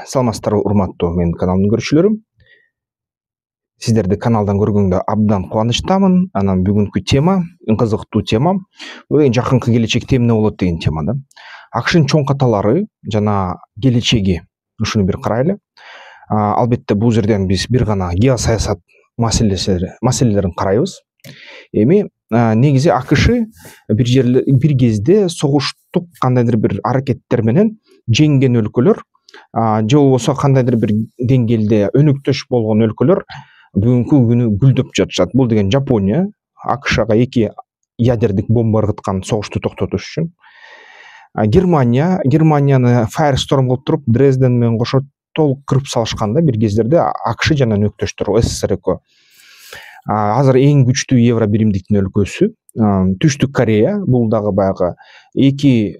Саламатсыздарбы урматтуу менин каналымдын көрүүчүлөрү. Сиздерди каналдан көргөнгө абдан кубанычтамын. Анан бүгүнкү тема кызыктуу тема. Бул жакынкы келечекте эмне болот деген тема да. АКШнын чоң каталары жана келечеги ушуну бир карайлы. Албетте бул жерден биз бир гана геосаясат маселелерин карайбыз. Эми негизи АКШ бир кезде согуштук кандайдыр бир аракеттер менен жеңген өлкөлөр же болбосо кандайдыр бир деңгээлде өнөктөш болгон өлкөлөр бүгүнкү күнү гүлдөп жатышат. Бул деген Жапония АКШга 2 ядердик бомба ыргыткан согушту токтотуш үчүн. Германияны Firestorm кылып туруп Дрезден менен кошо толук кырып салышканда бир кездерде АКШ жана өнөктөштөр СССР экөө. Азыр эң күчтүү евро биримдиктин өлкөсү Түштүк Корея. Бул дагы баягы 2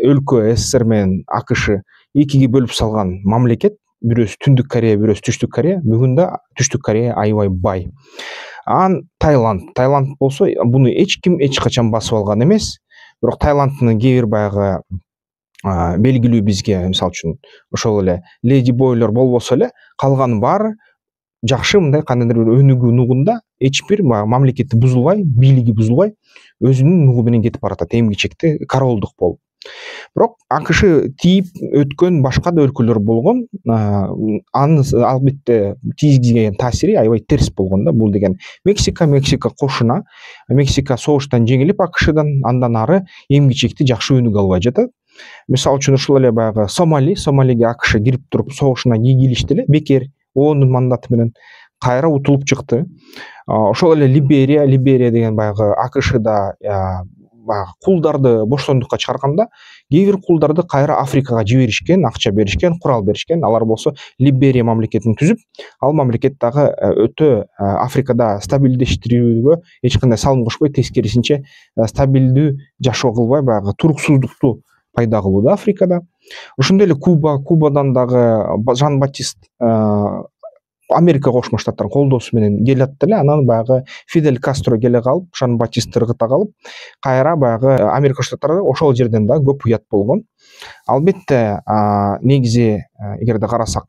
өлкө СССР менен АКШ 2-ге бөлүп салган мамлекет. Бирөөсү Түндүк Корея, бирөөсү Түштүк Корея. Бүгүн да Түштүк Корея аябай бай. Таиланд болсо буну эч ким эч качан басып алган эмес. Бирок Таиландтын кээ бир баягы белгилүү бизге мисалы үчүн ошол эле леди бойлор болбосо эле калган баары жакшы мындай кандайдыр бир өнүгүү нугунда эч бир мамлекети бузулбай, бийлиги бузулбай өзүнүн нугу менен кетип баратат эмгичекте королдук болуп. Бирок АКШ тийип өткөн башка да өлкөлөр болгон. Анын албетте тийгизген таасири аябай терс болгон да. Бул деген Мексика кошуна. Мексика согуштан жеңилип АКШдан андан ары эмгичекти жакшы өнүгө албай жатат. Мисалы үчүн ушул эле баягы Сомалиге АКШ кирип туруп согушуна кийлишти эле бекер ООНдун мандаты менен кайра утулуп чыкты. Ошол эле Либерия деген баягы АКШда баягы кулдарды боштондукка чыгарганда кээ бир кулдарды кайра Африкага жиберишкен, акча беришкен, курал беришкен. Алар болсо Либерия мамлекетин түзүп, ал мамлекет дагы өтө Африкада стабилдештирүүгө эч кандай салым кошпой, тескерисинче стабилдүү жашоо кылбай баягы туруксуздукту пайда кылууда Африкада. Ошондой эле Кубадан дагы Жан-Батист Америка Кошмо Штаттарынын колдоосу менен келет эле. Анан баягы Фидель Кастро келе калып, Жан-Батистти ыргыта калып, кайра баягы Америка Штаттары ошол жерден да көп уят болгон. Албетте негизи эгерде карасак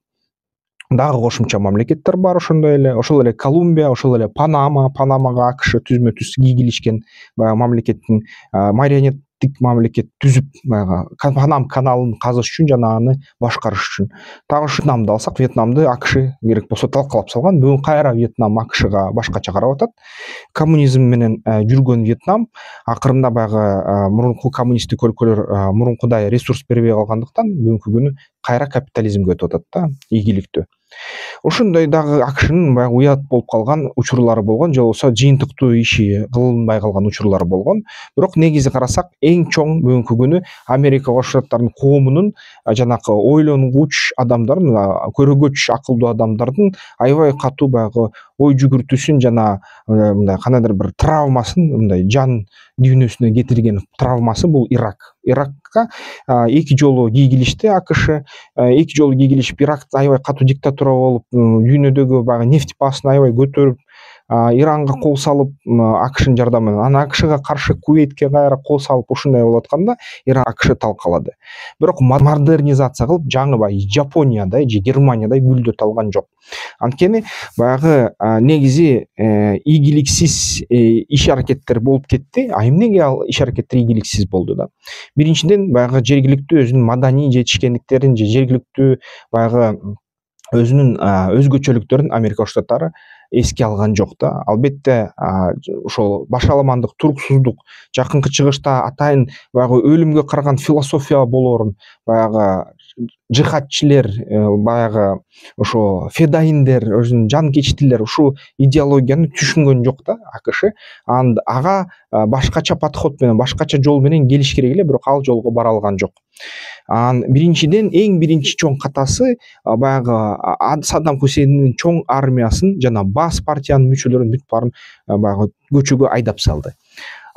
дагы кошумча мамлекеттер бар ошондой эле. Ошол эле Колумбия, ошол эле Панамага АКШ түзмө-түз кийгилишкен баягы мамлекеттин марионеттик мамлекет түзүп баягы Панам каналын казыш үчүн жана аны башкарыш үчүн. Дагы Вьетнамды алсак, Вьетнамды АКШ керек болсо талкалап салган. Бүгүн кайра Вьетнам АКШга башкача карап атат. Коммунизм менен жүргөн Вьетнам акырында баягы мурунку коммунисттик өлкөлөр мурункудай ресурс бербей калгандыктан бүгүнкү күнү кайра капитализмге өтүп атат да, ийгиликтүү. Ошондой дагы АКШнын баягы уят болуп калган учурлары болгон, же болбосо жыйынтыктуу иши кылынбай калган учурлары болгон. Бирок негизи карасак, эң чоң бүгүнкү күнү Америка Кошмо Штаттарынын коомунун жанакы ойлонгуч адамдардын, көрөгөч акылдуу адамдардын аябай катуу баягы ой жүгүртүүсүн жана мындай кандайдыр бир травмасын, мындай жан дүйнөсүнө кетирген травмасы бул Иракка 2 жолу кийгилишти АКШ. 2 жолу кийгилишип, Иракта аябай катуу диктатура болуп, дүйнөдөгү баягы нефть баасын аябай көтөрүп, Иранга кол салып, АКШнын жардамы менен, анан АКШга каршы Кувейтке кайра кол салып, ушундай болуп атканда Иран АКШ талкалады. Бирок модернизация кылып, жаңы баягы Жапониядай же Германиядай гүлдөтө алган жок. Анткени баягы негизи ийгиликсиз иш аракеттер болуп кетти. Эмнеге ал иш аракеттер ийгиликсиз болду да? Биринчиден баягы жергиликтүү өзүнүн маданий жетишкендиктерин же жергиликтүү баягы өзүнүн өзгөчөлүктөрүн Америка Кошмо Штаттары эске алган жок да. Албетте ошол башаламандык, туруксуздук, жакынкы чыгышта атайын баягы өлүмгө караган философия болоорун баягы жихадчилер, баягы ошо федайиндер, өзүнүн жанкечтилер ушул идеологияны түшүнгөн жок да АКШ. Ага башкача подход менен, башкача жол менен келиш керек эле, бирок ал жолго бара алган жок. Биринчиден эң биринчи чоң катасы баягы Саддам Хусейндин чоң армиясын жана баш партиянын мүчөлөрүн бүт баарын баягы көчөгө айдап салды.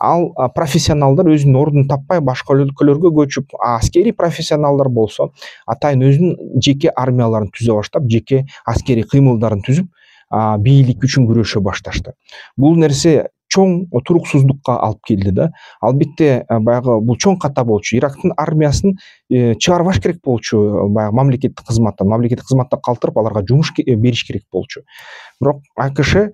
Ал профессионалдар өзүнүн ордун таппай башка өлкөлөргө көчүп, аскери профессионалдар болсо атайын өзүнүн жеке армияларын түзө баштап, жеке аскери кыймылдарын түзүп, бийлик үчүн күрөшө башташты. Бул нерсе чоң туруксуздукка алып келди да. Албетте баягы бул чоң ката болчу. Ирактын армиясын чыгарбаш керек болчу, баягы мамлекеттик кызматта калтырып, аларга жумуш бериш керек болчу. Бирок АКШ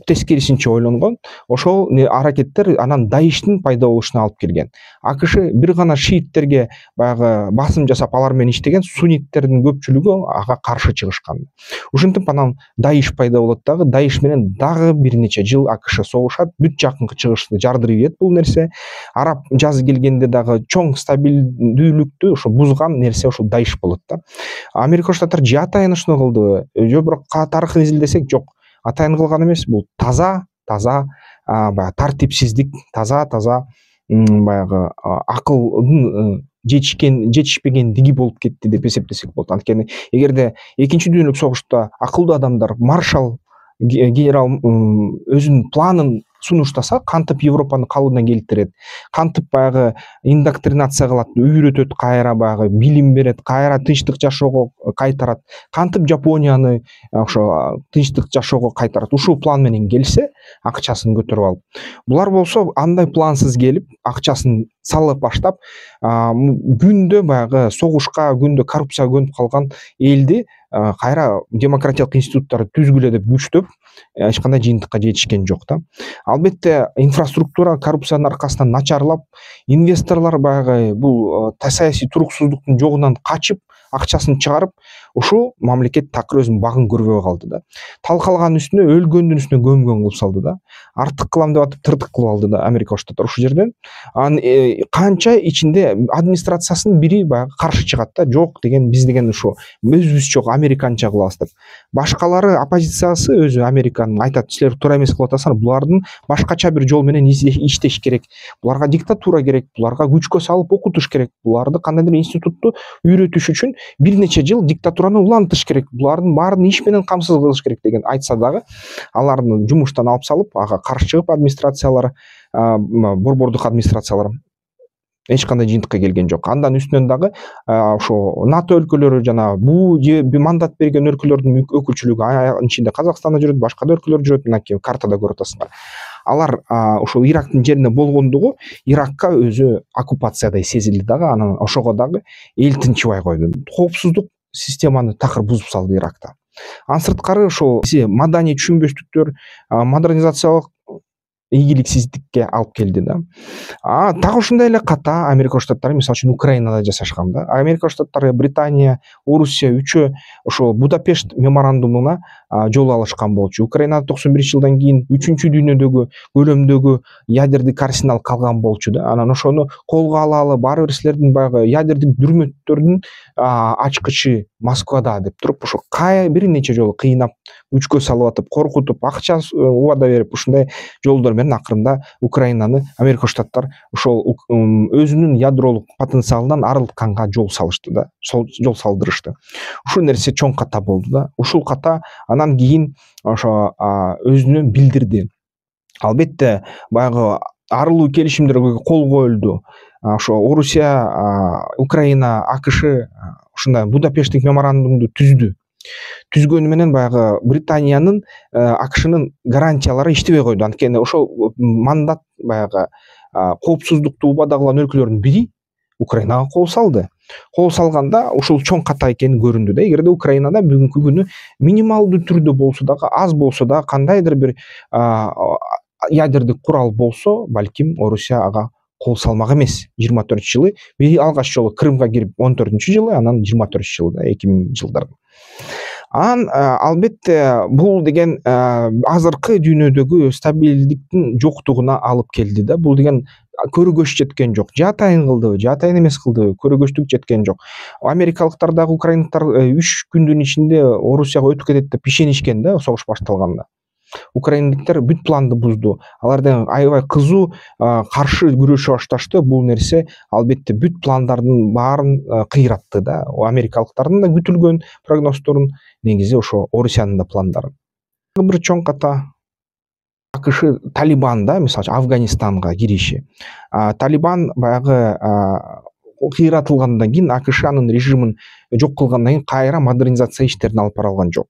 тескерисинче ойлонгон. Ошол аракеттер анан Даиштин пайда болушуна алып келген. АКШ бир гана шииттерге баягы басым жасап, алар менен иштеген, сунниттердин көпчүлүгү ага каршы чыгышкан. Ушинтип анан Даиш пайда болот дагы. Даиш менен дагы бир нече жыл АКШ согушат. Бүт жакынкы чыгышты жардырып ийет бул нерсе. Араб жазы келгенде дагы чоң стабилдүүлүктү ошо бузган нерсе ошол Даиш болот да. Америка Коңшу Штаттар же атайын ушуну кылдыбы? Же бирок тарыхын изилдесек, жок. Атайын кылган эмес, бул таза баягы тартипсиздик, таза баягы акылдын жетишпегендиги болуп кетти деп эсептесек болот. Анткени эгерде экинчи дүйнөлүк согушта акылдуу адамдар, маршал генерал өзүнүн планын сунуштаса, кантип Европаны калыбына келтирет, кантип баягы индоктринация кылат, үйрөтөт, кайра баягы билим берет, кайра тынчтык жашоого кайтарат, кантип Жапонияны ошо тынчтык жашоого кайтарат, ушул план менен келсе, акчасын көтөрүп алып. Булар болсо андай плансыз келип, акчасын салып баштап, күндө баягы согушка, күндө коррупцияга көнүп калган элди кайра демократиялык институттарды түзгүлө деп күчтөп, эч кандай жыйынтыкка жетишкен жок да. Албетте инфраструктура коррупциянын аркасынан начарлап, инвесторлор баягы бул саясий туруксуздуктун жогунан качып, акчасын чыгарып, ушул мамлекет такыр өзүнүн багын көрбөй калды да. Талкалаган үстүнө, өлгөндүн үстүнө көмгөн кылып салды да. Артык кылам деп атып тыртык кылып алды да Америка Коңшу Штаттар ушул жерден. Анан канча ичинде администрациясынын бири баягы каршы чыгат да, жок деген, биз деген ушу өзүбүз жок американча кылабыз деп. Башкалары оппозициясы өзү Американын айтат, силер туура эмес кылып атасыңар, булардын башкача бир жол менен иштеш керек. Буларга диктатура керек, буларга күчкө салып окутуш керек, буларды кандайдыр институтту үйрөтүш үчүн бир нече жыл диктатураны улантыш керек, булардын баарын иш менен камсыз кылыш керек деген айтса дагы, аларды жумуштан алып салып, ага каршы чыгып администрациялар, борбордук администрациялар эч кандай жыйынтыкка келген жок. Андан үстүнөн дагы ошо НАТО өлкөлөрү жана бул же мандат берген өлкөлөрдүн өкүлчүлүгү, анын ичинде Казакстан да жүрөт, башка да өлкөлөр жүрөт, мынакей картада көрүп атасыңар. Алар ошол Ирактын жеринде болгондугу Иракка өзү оккупациядай сезилди дагы, анан ошого дагы эл тынчыбай койду. Коопсуздук системаны такыр бузуп салды Иракта. Анын сырткары ошол маданий түшүнбөстүктөр, модернизациялык ийгиликсиздикке алып келди да. Так ушундай эле ката Америка Коңшу Штаттары мисалы үчүн Украинада жашашкан да. Америка Коңшу Штаттары, Британия, Орусия үчөө ошол Будапешт меморандумуна жол алышкан болчу. Украинада 91 жылдан кийин 3-чү дүйнөдөгү көлөмдөгү ядердик арсенал калган болчу да. Анан ошону колго алалы, баары бир силердин баягы ядердик дүрмөттөрдүн ачкычы Москвада деп туруп, ошо бир нече жолу кыйнап, күчкө салып атып, коркутуп, акча убада берип, ушундай жолдор менен акырында Украинаны Америка Коңшу Штаттар ошол өзүнүн ядролук потенциалынан арылтканга жол салышты да, жол салдырышты. Ушул нерсе чоң ката болду да. Ушул ката анан кийин ошо өзүнө билдирди. Албетте баягы арылуу келишимдерге кол коюлду. Ошо Орусия, Украина, АКШ ушундай Будапешттик меморандумду түзгөнү менен баягы Британиянын, АКШнын гарантиялары иштебей койду. Анткени ошол мандат баягы коопсуздукту убада кылган өлкөлөрдүн бири Украинага кол салды. Кол салганда ушул чоң ката экени көрүндү да. Эгерде Украинада бүгүнкү күнү минималдуу түрдө болсо дагы, аз болсо дагы кандайдыр бир ядердик курал болсо, балким Орусия ага кол салмак эмес. 24-жылы алгач жолу Крымга кирип 14-жылы, анан 24-жылы да, 2000 жылдары. Албетте бул деген азыркы дүйнөдөгү стабилдиктин жоктугуна алып келди да. Бул деген көрөгөч жеткен жок. Же атайын кылдыбы, же атайын эмес кылдыбы, көрөгөчтүк жеткен жок. Америкалыктар дагы украиндыктар 3 күндүн ичинде Орусияга өтүп кетет деп ишенишкен да, согуш башталганда. Украиндиктер бүт планды бузду. Алардан аябай кызуу каршы күрөшүп башташты. Бул нерсе албетте бүт пландардын баарын кыйратты да. Америкалыктардын да күтүлгөн прогноздорун негизи ошо Орусиянын да пландары. Бир чоң ката АКШ Талибан да, мисалы Афганистанга кириши. Талибан баягы кыйратылгандан кийин АКШ анын режимин жок кылгандан кийин кайра модернизация иштерин алып бара алган жок.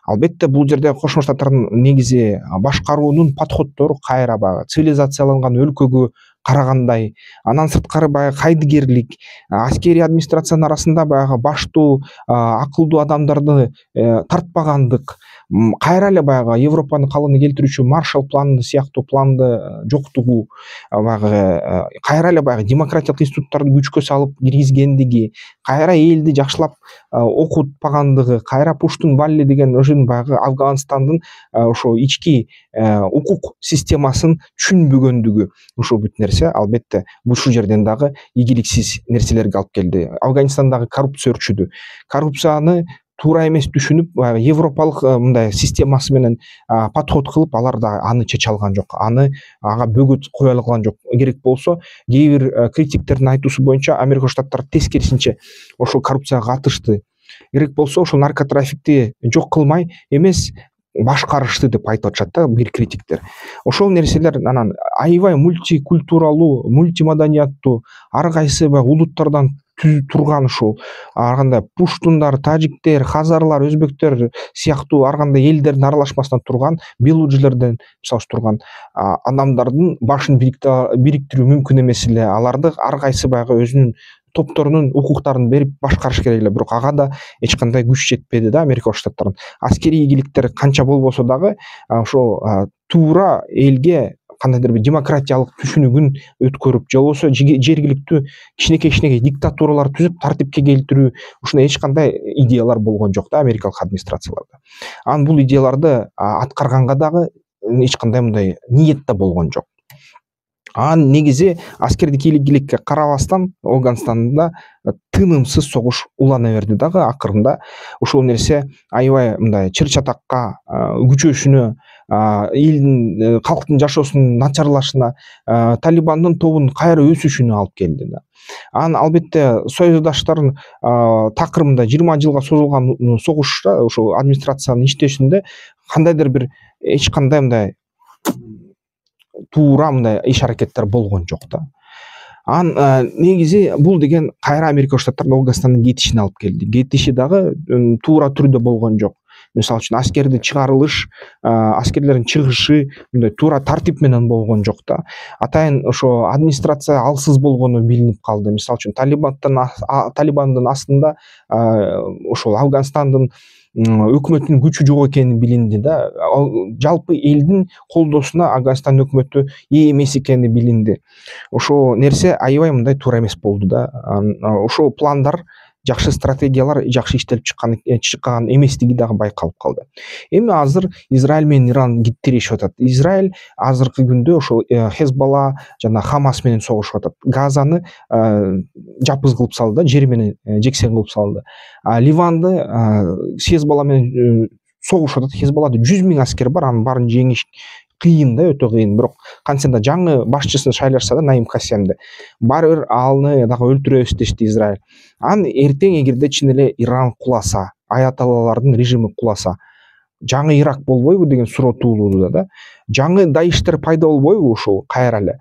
Албетте бул жерде Кошмо Штаттардын негизи башкаруунун подходдору кайра баягы цивилизацияланган өлкөгө карагандай, андан сырткары баягы кайдыгерлик, аскерий администрациянын арасында баягы баштуу акылдуу адамдарды тартпагандык, кайра эле баягы Европанын калыбына келтирүүчү Маршалл планы сыяктуу планды жоктугу, баягы кайра эле баягы демократиялык институттарды күчкө салып киргизгендиги, кайра элди жакшылап окутпагандыгы, кайра Пуштун Валли деген ошонун баягы Афганстандын ошо ички укук системасын түшүнбөгөндүгү, ушул бүт нерсе албетте ушул жерден дагы ийгиликсиз нерселерге алып келди. Афганистандагы коррупция өрчүдү. Коррупцияны туура эмес түшүнүп, баягы европалык мындай системасы менен подход кылып, алар да аны чече алган жок, ага бөгөт кое алган жок. Керек болсо, кээ бир критиктердин айтуусу боюнча Америка Штаттары тескерисинче ошол коррупцияга катышты. Керек болсо, ошол наркотрафикти жок кылмай эмес, башкарышты деп айтып атышат да бир критиктер. Ошол нерселер анан аябай мультикультуралуу, мультимаданияттуу, ар кайсы баягы улуттардан турган ушул ар кандай пуштундар, тажиктер, хазарлар, өзбектер сыяктуу ар кандай элдердин аралашмасынан турган, белужилерден мисалы турган адамдардын башын бириктирүү мүмкүн эмес эле. Аларды ар кайсы баягы өзүнүн топторунун укуктарын берип башкарыш керек эле, бирок ага да эч кандай күч жетпеди да Америка Штаттарынын. Аскерий ийгиликтер канча болбосо дагы ошол туура элге кандайдыр бир демократиялык түшүнүгүн өткөрүп, же болбосо жергиликтүү кичинекей диктатуралар түзүп тартипке келтирүү, ушундай эч кандай идеялар болгон жок да америкалык администрацияларда. Анан бул идеяларды аткарганга дагы эч кандай мындай ниет да болгон жок. Анан негизи аскердик ийгиликке карабастан Афганстанда тынымсыз согуш улана берди дагы акырында. Ушул нерсе аябай мындай чыр-чатакка күчөшүнө, элдин калктын жашоосунун начарлашына, Талибандын тобунун кайра өсүшүнө алып келди да. Анан албетте союздаштардын такырымында 20 жылга созулган согушта ошол администрациянын иштешинде кандайдыр бир эч кандай мындай туура мындай иш аракеттер болгон жок да. Анан негизи бул деген кайра Америка Штаттарынын Афганстандын кетишине алып келди. Кетиши дагы туура түрдө болгон жок. Мисалы үчүн аскерди чыгарылыш, аскерлердин чыгышы мындай туура тартип менен болгон жок да. Атайын ошо администрация алсыз болгону билинип калды. Мисалы үчүн Талибандын астында ошол Афганстандын өкмөтүнүн күчү жок экени билинди да. Жалпы элдин колдоосуна Афганстан өкмөтү ээ эмес экени билинди. Ошол нерсе аябай мындай туура эмес болду да. Ошол пландар, жакшы стратегиялар жакшы иштелип чыккан эместиги дагы байкалып калды. Эми азыр Израиль менен Иран тирешип атат. Израиль азыркы күндө ошол Хезболла жана Хамас менен согушуп атат. Газаны жапыз кылып салды, жер менен жексен кылып салды. Ливанды Хезболла менен согушуп атат. Хезболлада 100 000 аскер бар, анын баарын жеңиш кыйын да, өтө кыйын. Бирок кантсе да жаңы башчысын шайлашса да, Наим Кассемди, баары бир аны дагы өлтүрөбүз дешти Израиль. Анан эртең эгерде чын эле Иран куласа, аяталлалардын режими куласа, жаңы Ирак болбойбу деген суроо туулууда да. Жаңы Даиштер пайда болбойбу ушул кайра эле?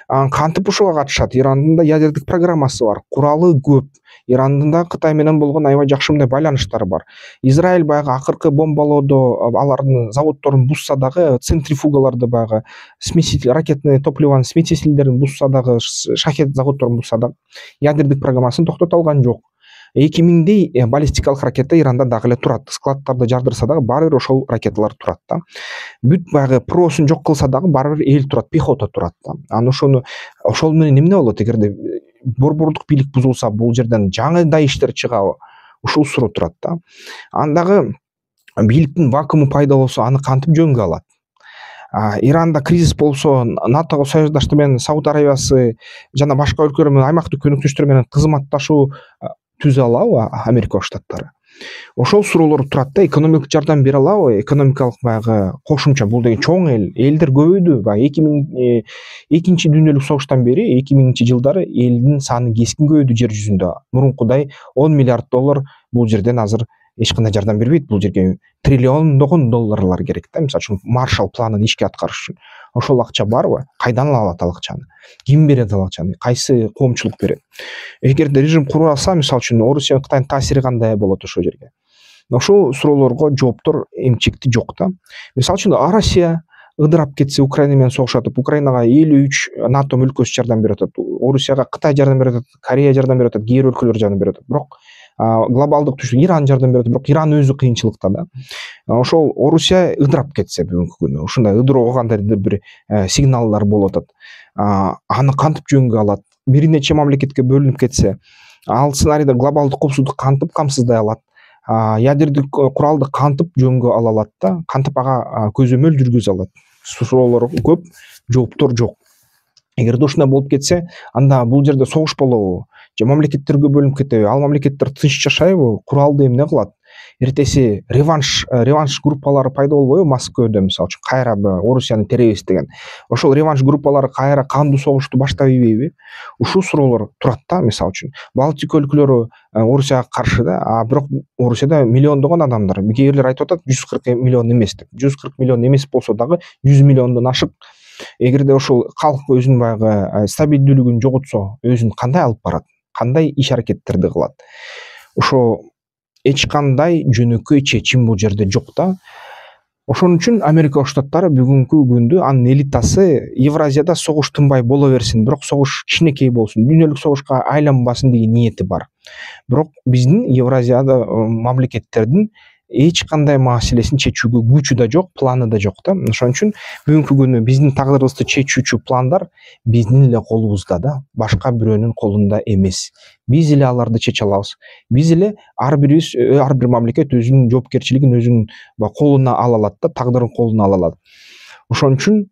Анан кантип ушуга катышат? Ирандын да ядердик программасы бар, куралы көп. Ирандын да Кытай менен болгон аябай жакшы мындай байланыштары бар. Израиль баягы акыркы бомбалоодо алардын заводдорун бузса дагы, центрифугаларды баягы смеситель, ракетный топливонун смесительдерин бузса дагы, шахет заводдорун бузса дагы ядердик программасын токтото алган жок. 2000дей баллистикалык ракета Иранда дагы эле турат. Складдарды жардырса дагы баары бир ошол ракеталар турат да. Бүт баягы проосун жок кылса дагы баары бир эл турат, пехота турат да. Анан ошол менен эмне болот эгерде борбордук бийлик бузулса, бул жерден жаңы Даиштер чыгабы? Ушул суроо турат да. Анан дагы бийликтин вакууму пайда болсо, аны кантип жөнгө алат? Иранда кризис болсо, НАТОго союздаштар менен Сауд Арабиясы жана башка өлкөлөр менен аймактык өнөктөштөр менен кызматташуу түзө алабы Америка Штаттары? Ошол суроолор турат да. Экономикалык жардам бере алабы? Экономикалык баягы кошумча, бул деген чоң элдер көбөйдү. Баягы 2-нчи дүйнөлүк согуштан бери 2000 жылдары элдин саны кескин көбөйдү жер жүзүндө. Мурункудай $10 миллиард бул жерден азыр эч кандай жардам бербейт. Бул жерге триллиондогон долларлар керек да. Мисалы үчүн Маршалл планын ишке аткарыш үчүн. Ошол акча барбы? Кайдан алат ал акчаны? Ким берет ал акчаны? Кайсы коомчулук берет? Эгерде режим куруп алса, мисалы үчүн Орусия, Кытайдын таасири кандай болот ошол жерге? ошол суроолорго жооптор эмчекти жок да. Мисалы үчүн Россия ыдырап кетсе, Украина менен согуш атып, Украинага 53 НАТО өлкөсү жардам берип атат, Орусияга Кытай жардам берип атат, Корея жардам берип атат, кээ бир өлкөлөр жардам берип атат. Бирок глобалдык түштүк Иран жардам берип атат, бирок Иран өзү кыйынчылыкта да. Ошол Орусия ыдырап кетсе бүгүнкү күнү, ушундай ыдыроо кандайдыр бир сигналдар болуп атат. Аны кантип жөнгө алат? Бир нече мамлекетке бөлүнүп кетсе, ал сценарийде глобалдык коопсуздук кантип камсыздай алат? Ядердик куралды кантип жөнгө ала алат да? Кантип ага көзөмөл жүргүзө алат? Суроолор көп, жооптор жок. Эгерде ушундай болуп кетсе, анда бул жерде согуш болобу? Же мамлекеттерге бөлүнүп кетеби? Ал мамлекеттер тынч жашайбы? Куралды эмне кылат? Эртеси реванш группалары пайда болбойбу Москвада, мисалы үчүн кайра Орусияны теребиз деген. Ошол реванш группалары кайра кандуу согушту баштап ийбейби? Ушул суроолор турат да, мисалы үчүн. Балтика өлкөлөрү Орусияга каршы да, бирок Орусияда миллиондогон адамдар. Кээ бирлер айтып атат 140 миллион эмес деп. 140 миллион эмес болсо дагы 100 миллиондон ашык. Эгерде ошол калк өзүнүн баягы стабилдүүлүгүн жоготсо, өзүн кандай алып барат? Кандай иш аракеттерди кылат? Ошо эч кандай жөнөкөй чечим бул жерде жок да. Ошон үчүн Америка Коопсуздук Штаттары бүгүнкү күндө анын элитасы Евразияда согуш тынбай боло берсин, бирок согуш кичинекей болсун, дүйнөлүк согушка айланбасын деген ниети бар. Бирок биздин Евразияда мамлекеттердин эч кандай маселесин чечүүгө күчү да жок, планы да жок да. Ошон үчүн бүгүнкү күнү биздин тагдырыбызды чечүүчү пландар биздин эле колубузда да, башка бирөөнүн колунда эмес. Биз эле аларды чече алабыз. Биз эле ар бир мамлекет өзүнүн жоопкерчилигин өзүнүн колуна ала алат да, тагдырын колуна ала алат. Ошон үчүн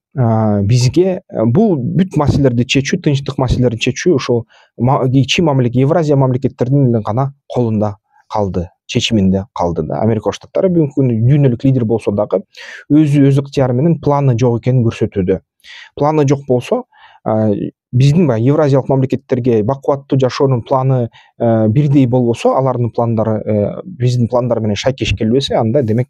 бизге бул бүт маселелерди чечүү, тынчтык маселелерин чечүү ошол Евразия мамлекеттеринин эле гана колунда калды, чечиминде калды да. Америка Коопсуздук Штаттары бүгүнкү күндө дүйнөлүк лидер болсо дагы өз ыктыяры менен планы жок экенин көрсөтүүдө. Планы жок болсо, биздин евразиялык мамлекеттерге бакубаттуу жашоонун планы бирдей болбосо, алардын пландары биздин пландар менен шайкеш келбесе, анда демек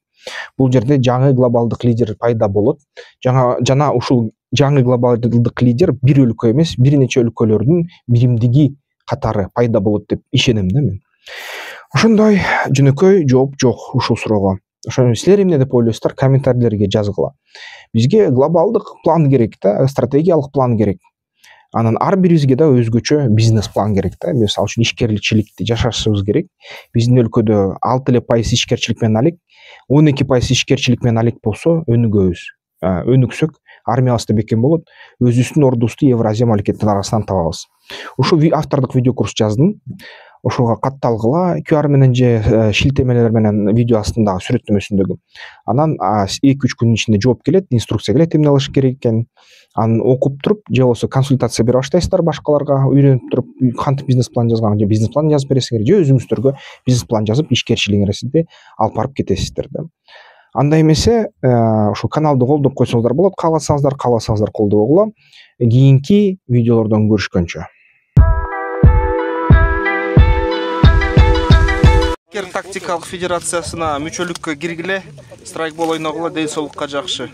бул жерде жаңы глобалдык лидер пайда болот. Жана ушул жаңы глобалдык лидер бир өлкө эмес, бир нече өлкөлөрдүн биримдиги катары пайда болот деп ишенем да мен. Ошондой жөнөкөй жооп жок ушул суроого. Ошону силер эмне деп ойлойсуздар? Комментарийлерге жазгыла. Бизге глобалдык план керек да, стратегиялык план керек. Анан ар бирибизге да өзгөчө бизнес план керек да. Мисалы үчүн ишкерчиликти жашашыбыз керек. Биздин өлкөдө 6% ишкерчилик менен алек, 12% ишкерчилик менен алек болсо өнүгөбүз. Өнүксөк, армиябыз да бекем болот. Өзүбүздүн ордубузду Евразия мамлекеттеринин арасынан табабыз. Ушул автордук видео курс жаздым. Ошого катталгыла, QR менен же шилтемелер менен видео астындагы сүрөттөмөсүндөгү. Анан 2-3 күнүн ичинде жооп келет, инструкция келет эмне кылыш керек экенин. Аны окуп туруп, же болбосо консультация бере баштайсыздар башкаларга, үйрөнүп туруп, кантип бизнес план жазган, же бизнес план жазып бересиңер, же өзүңүздөргө бизнес план жазып ишкерчилигиңерди алып барып кетесиздер да. Анда эмесе, ошо каналды колдоп койсоңуздар болот, кааласаңыздар колдобогула. Кийинки видеолордон көрүшкөнчө. Тактикалык федерациясына мүчөлүккө киргиле, страйкбол ойногула, ден соолукка жакшы.